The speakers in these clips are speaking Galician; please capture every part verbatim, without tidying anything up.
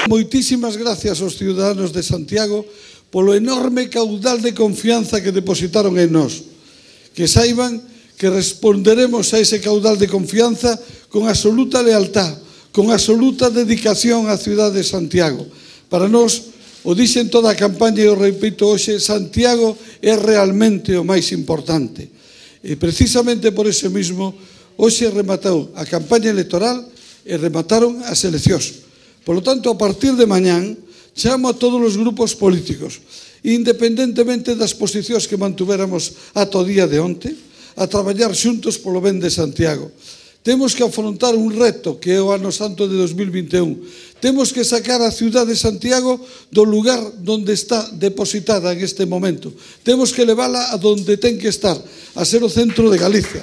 Moitísimas gracias aos ciudadanos de Santiago polo enorme caudal de confianza que depositaron en nós. Que saiban que responderemos a ese caudal de confianza con absoluta lealtad, con absoluta dedicación á cidade de Santiago. Para nós, o dixen toda a campaña e o repito hoxe, Santiago é realmente o máis importante. E precisamente por iso mesmo, hoxe rematou a campaña electoral e remataron as eleccións. Por lo tanto, a partir de mañán, chamo a todos os grupos políticos, independentemente das posicións que mantuvéramos ata o día de onte, a traballar xuntos polo ben de Santiago. Temos que afrontar un reto que é o ano santo de dos mil vinte e un. Temos que sacar a cidade de Santiago do lugar onde está depositada en este momento. Temos que levala a donde ten que estar, a ser o centro de Galicia.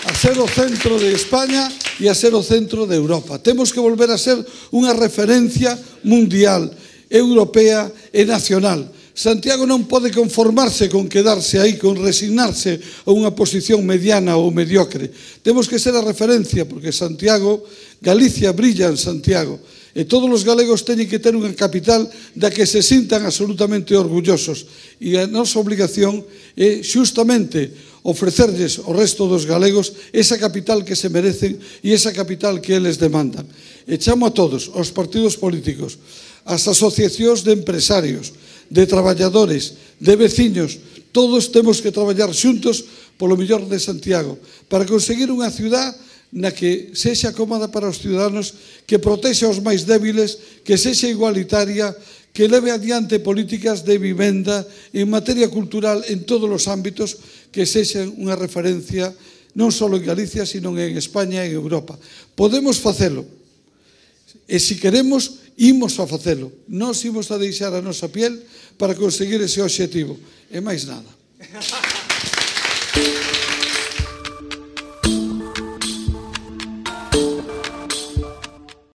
A ser o centro de España e a ser o centro de Europa. Temos que volver a ser unha referencia mundial, europea e nacional. Santiago non pode conformarse con quedarse aí, con resignarse a unha posición mediana ou mediocre. Temos que ser a referencia, porque Santiago, Galicia brilla en Santiago, e todos os galegos teñen que ter unha capital da que se sintan absolutamente orgullosos. E a nosa obligación é xustamente ofrecerlles ao resto dos galegos esa capital que se merecen e esa capital que eles demandan. E chamo a todos, aos partidos políticos, ás asociacións de empresarios, de traballadores, de veciños, todos temos que traballar xuntos polo mellor de Santiago para conseguir unha ciudad na que sexa cómoda para os ciudadanos, que protexa os máis débiles, que sexa igualitaria, que leve adiante políticas de vivenda en materia cultural en todos os ámbitos, que sexan unha referencia non só en Galicia, sino en España e en Europa. Podemos facelo. E se queremos, imos a facelo. Nós imos a deixar a nosa piel para conseguir ese obxectivo. E máis nada.